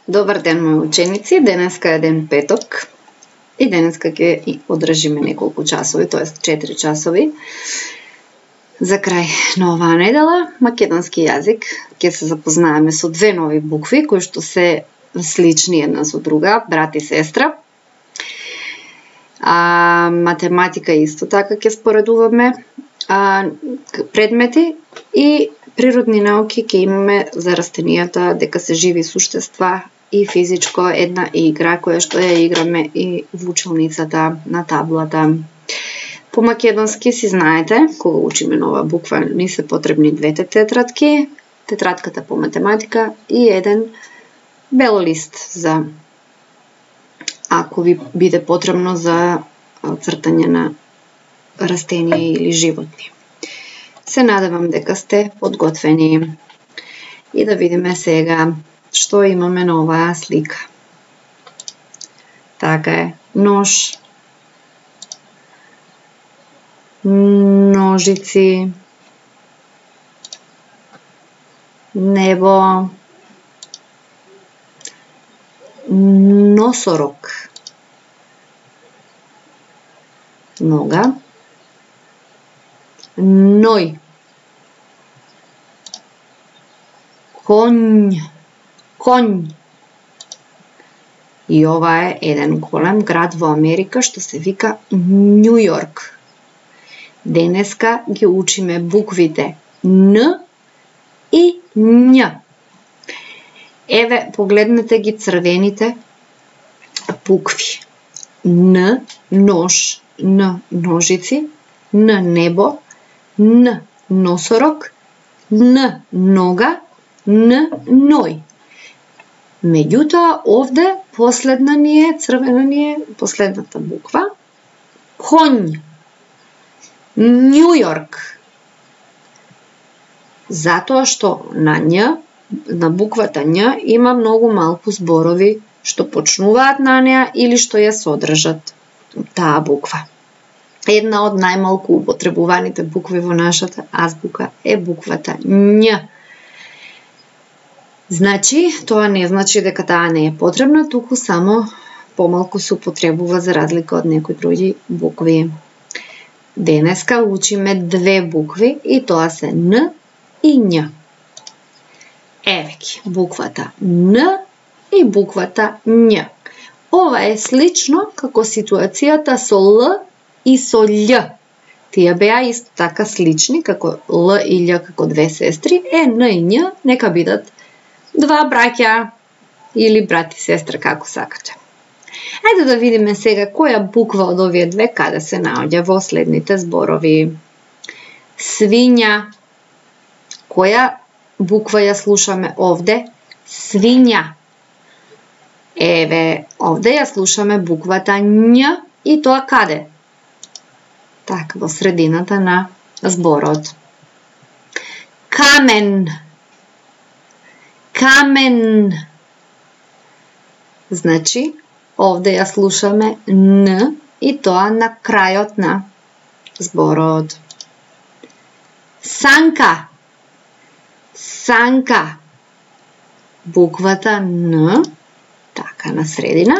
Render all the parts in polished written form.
Добар ден, мои ученици. Денеска е ден петок и денеска ќе одржиме неколку часови, тоест 4 часови. За крај на оваа недела, македонски јазик, ќе се запознаеме со две нови букви кои што се слични една со друга, брат и сестра. Математика исто така ќе споредуваме предмети и природни науки ќе имаме за растенијата, дека се живи суштества и физичко една игра која што ја играме и во училницата на таблата. По македонски си знаете, кога учиме нова буква, ни се потребни двете тетрадки, тетрадката по математика и еден бел лист за ако ви биде потребно за цртање на растенија или животни. Се надевам дека сте подготвени и да видиме сега што имаме на оваа слика. Така е, нож, ножици, небо, носорог, нога, ној, конј. И ова е еден голем град во Америка што се вика Њу Јорк. Денеска ги учиме буквите Н и Њ. Еве, погледнете ги црвените букви. Н, нож, Н, ножици, Н, небо, Н, носорог, Н, нога, Н, ној. Меѓутоа, овде последна ни е, црвена ни е, последната буква, конј, Њу Јорк. Затоа што на Њ, на буквата Њ, има многу малку зборови што почнуваат на неа или што ја содржат таа буква. Една од најмалку употребуваните букви во нашата азбука е буквата Њ. Значи, тоа не значи дека таа не е потребна, туку само помалку се употребува за разлика од некои други букви. Денеска учиме две букви и тоа се Н и Њ. Еве ги, буквата Н и буквата Њ. Ова е слично како ситуацијата со Л и со Љ. Тие беа исто така слични како Л и Љ како две сестри, Н и Њ нека бидат два браќа или брат и сестра, како сакате. Ајде да видиме сега која буква од овие две каде се наоѓа во следните зборови. Свиња. Која буква ја слушаме овде? Свиња. Еве, овде ја слушаме буквата Њ и тоа каде? Така, во средината на зборот. Камен. Камен. Значи, овде ја слушаме Н и тоа на крајот на зборот. Санка. Санка. Буквата Н, така на средина.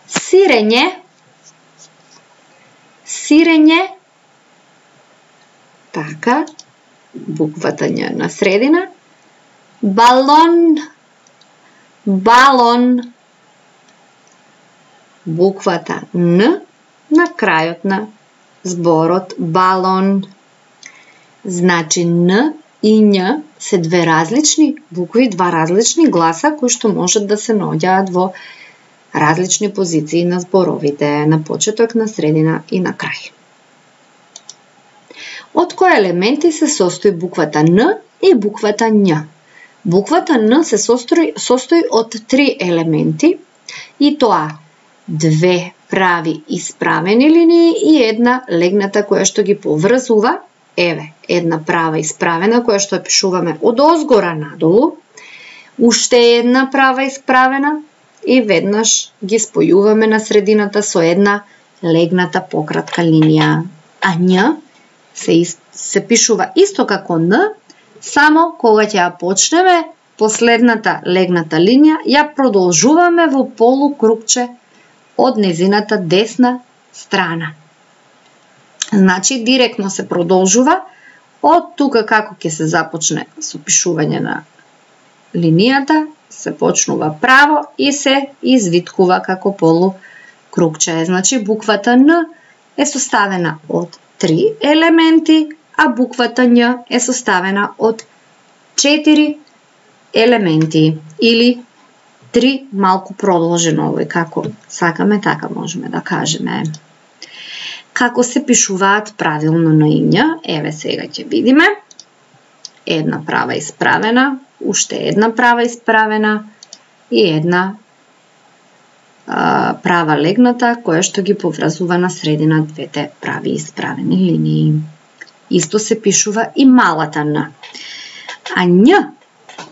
Сирење. Сирење. Така, буквата Њ на средина. Балон. Балон. Буквата Н на крајот на зборот балон. Значи Н и Њ се две различни букви, два различни гласа кои што можат да се наоѓаат во различни позиции на зборовите, на почеток, на средина и на крај. Од кои елементи се состои буквата Н и буквата Њ? Буквата Н се состои од три елементи и тоа две прави исправени линии и една легната која што ги поврзува. Еве, една права исправена која што ја пишуваме од озгора надолу, уште една права исправена и веднаш ги спојуваме на средината со една легната пократка линија. А Њ се пишува исто како Н, само кога ќе ја почнеме последната легната линија ја продолжуваме во полукрупче од незината десна страна. Значи, директно се продолжува од тука како ќе се започне со пишување на линијата, се почнува право и се извиткува како полукрупче. Значи, буквата Н е составена од 3 елементи, а буквата Њ е составена од 4 елементи или 3 малку продолжено, овој како сакаме, така можеме да кажеме. Како се пишуваат правилно Н и Њ, еве сега ќе видиме. Една права исправена, уште една права исправена и една права легната, која што ги поврзува на средина двете прави исправени линии. Исто се пишува и малата Н. А Њ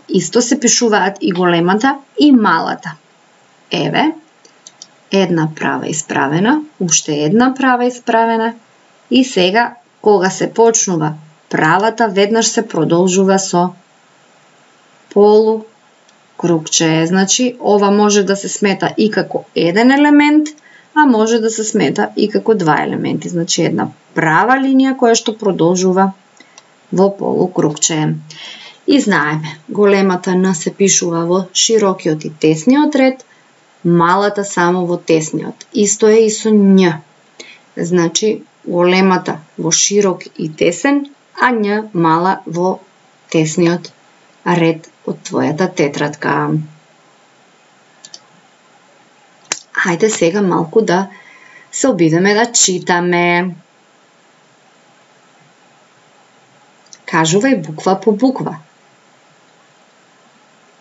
исто се пишуваат и големата и малата. Еве, една права исправена, уште една права исправена и сега кога се почнува правата, веднаш се продолжува со полукрупче. Значи, ова може да се смета и како еден елемент, а може да се смета и како 2 елементи. Значи, една права линија која што продолжува во полукрупче. И знаеме, големата Н се пишува во широкиот и тесниот ред, малата само во тесниот. Исто е и со Њ. Значи, големата во широк и тесен, а Њ мала во тесниот ред од твојата тетрадка. Хајде сега малку да се обидеме да читаме. Кажувај буква по буква.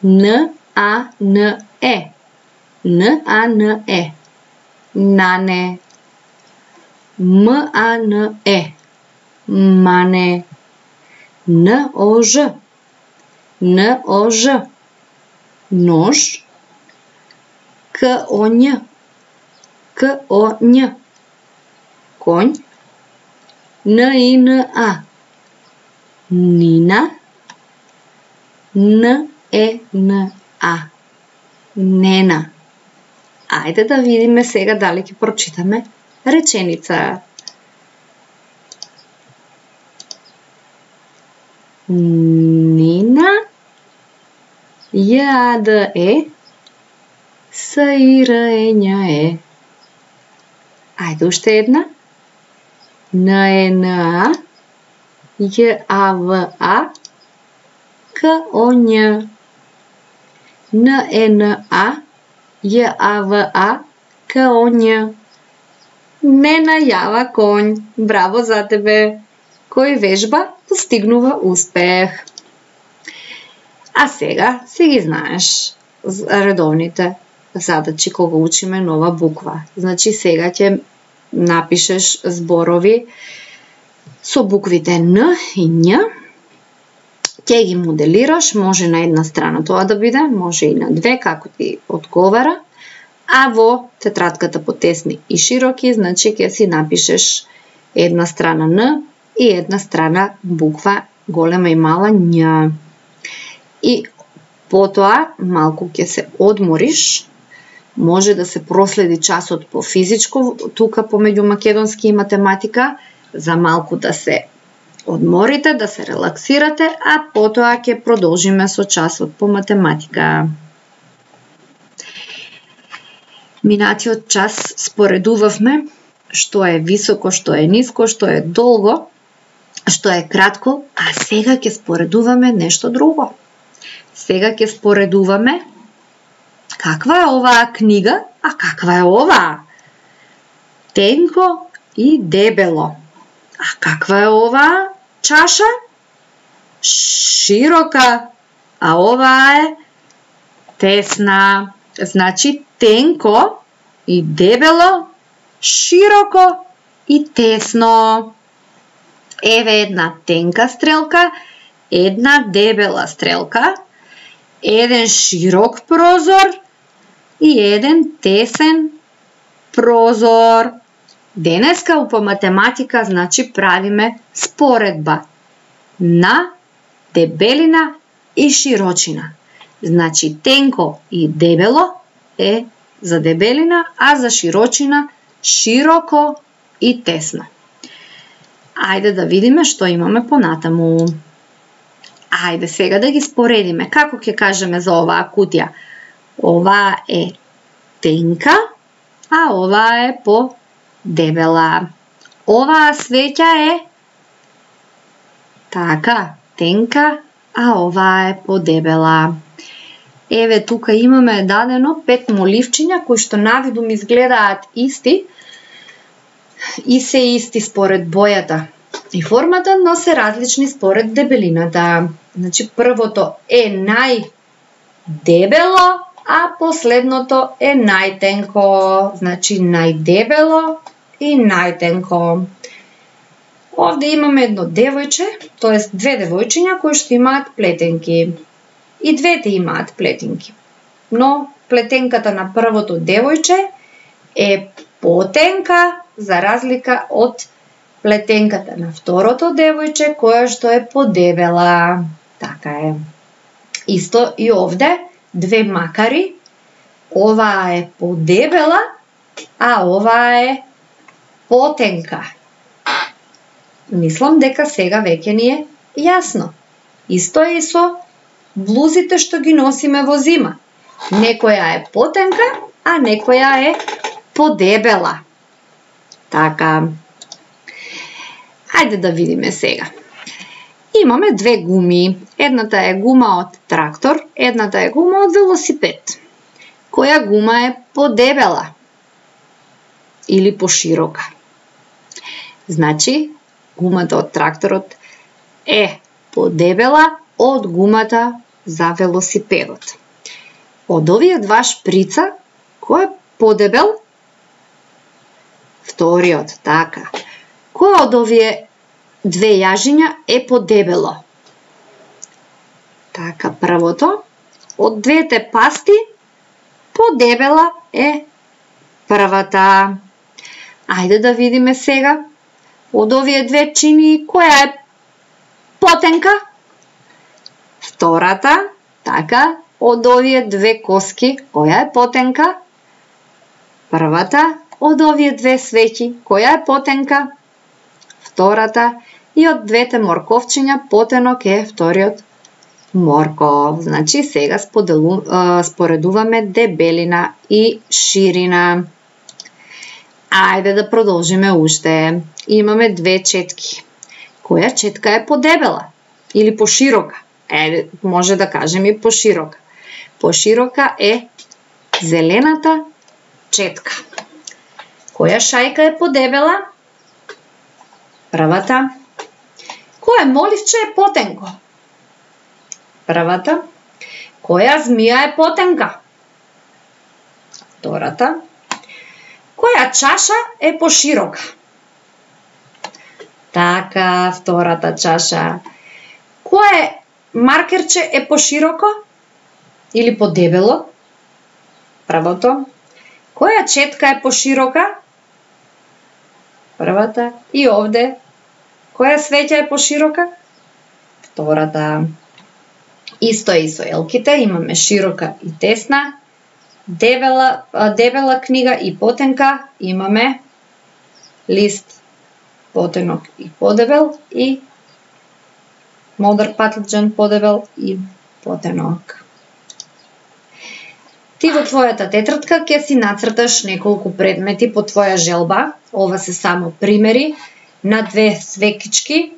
Н, А, Н, Е. Н, А, Н, Е. Нане. М, А, Н, Е. Мане. Н, О, Ж. Н, О, Ж. Нож. К, О, Њ. К, О, Њ. Конј. Н, И, Н, А. Нина. Н, Е, Н, А. Нена. Ајде да видиме сега дали ќе прочитаме реченица. Нина. Ј, А, Д, Е. С, И, Р, Е, Њ, Е. Ајде уште една. Н, Е, Н, А. Ј, А, В, А. К, О, Њ. Н, Е, Н, А. Ј, А, В, А. К, О, Њ. Нена јава конј. Браво за тебе. Кој вежба постигнува успех. А сега си ги знаеш редовните задачи кога учиме нова буква. Значи сега ќе напишеш зборови со буквите Н и Њ. Ќе ги моделираш, може на една страна тоа да биде, може и на две, како ти одговара. А во тетрадката по тесни и широки, значи ќе си напишеш една страна Н и една страна буква голема и мала Њ. И потоа малку ќе се одмориш, може да се проследи часот по физичко, тука помеѓу македонски и математика, за малку да се одморите, да се релаксирате, а потоа ќе продолжиме со часот по математика. Минатиот час споредувавме што е високо, што е ниско, што е долго, што е кратко, а сега ќе споредуваме нешто друго. Сега ќе споредуваме каква е оваа книга, а каква е оваа. Тенко и дебело. А каква е оваа чаша? Широка, а оваа е тесна. Значи тенко и дебело, широко и тесно. Еве една тенка стрелка, една дебела стрелка, еден широк прозор и еден тесен прозор. Денеска по математика значи правиме споредба на дебелина и широчина. Значи тенко и дебело е за дебелина, а за широчина широко и тесно. Ајде да видиме што имаме понатаму. Ајде сега да ги споредиме. Како ќе кажеме за оваа кутија? Ова е тенка, а ова е подебела. Оваа свеќа е така, тенка, а оваа е подебела. Еве тука имаме дадено 5 моливчиња кои што навидум изгледаат исти и се исти според бојата и формата, но се различни според дебелината. Значи првото е најдебело, а последното е најтенко. Значи најдебело и најтенко. Овде имаме едно девојче, тоест две девојчиња кои што имаат плетенки. И двете имаат плетенки. Но плетенката на првото девојче е потенка за разлика од плетенката на второто девојче која што е подебела. Така е. Исто и овде, две макари. Оваа е подебела, а оваа е потенка. Мислам дека сега веќе ни е јасно. Исто е и со блузите што ги носиме во зима. Некоја е потенка, а некоја е подебела. Така. Ајде да видиме сега. Имаме две гуми. Едната е гума од трактор, едната е гума од велосипед. Која гума е подебела? Или поширока? Значи, гумата од тракторот е подебела од гумата за велосипедот. Од овие два шприца, кој е подебел? Вториот, така. Кој од овие две јажиња е подебело? Така, првото. Од двете пасти, подебела е првата. Ајде да видиме сега. Од овие две чини, која е потенка? Втората. Така, од овие две коски, која е потенка? Првата. Од овие две свеќи, која е потенка? Втората. И од двете морковчиња, потенок е вториот морков. Значи, сега споредуваме дебелина и ширина. Ајде да продолжиме уште. Имаме две четки. Која четка е подебела? Или поширока? Може да кажем и поширока. Поширока е зелената четка. Која шајка е подебела? Првата. Која моливче е потенко? Првата. Која змија е потенка? Втората. Која чаша е поширока? Така, втората чаша. Кое маркерче е пошироко или подебело? Првото. Која четка е поширока? Првата. И овде. Која свеќа е поширока? Втората. Исто и со елките. Имаме широка и тесна. Дебела книга и потенка. Имаме лист, потенок и подебел и модер патлџан подебел и потенок. Ти во твојата тетрадка ќе си нацрташ неколку предмети по твоја желба. Ова се само примери на две свекички,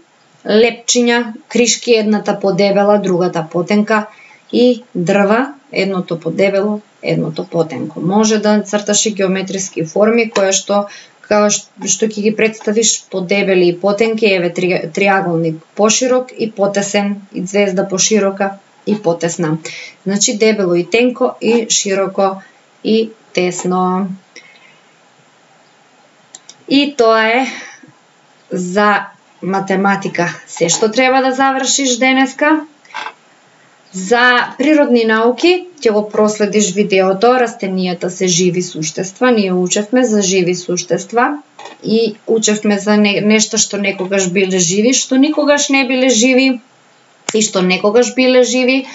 лепчиња, кришки, едната подебела, другата потенка и дрва, едното подебело, едното потенко. Може да црташ и геометриски форми која што ќе ги представиш подебели и потенки, еве триаголник поширок и потесен, и звезда поширока и потесна. Значи дебело и тенко и широко и тесно. И тоа е за математика се што треба да завршиш денеска. За природни науки ќе го проследиш видеото "Растенијата се живи суштества". Ние учевме за живи суштества и учевме за нешто што некогаш биле живи, што никогаш не биле живи и што некогаш биле живи.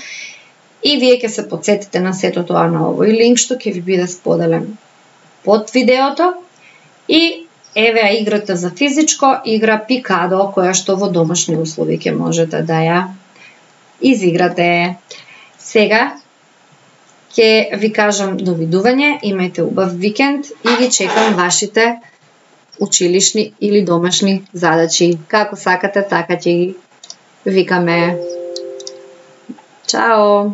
И вие ќе се потсетите на сето тоа на овој линк што ќе ви биде споделен под видеото. И еве играта за физичко, игра Пикадо, која што во домашни услови ќе можете да ја изиграте. Сега ќе ви кажам довидување, имајте убав викенд и ги чекам вашите училишни или домашни задачи. Како сакате, така ќе ги викаме. Чао!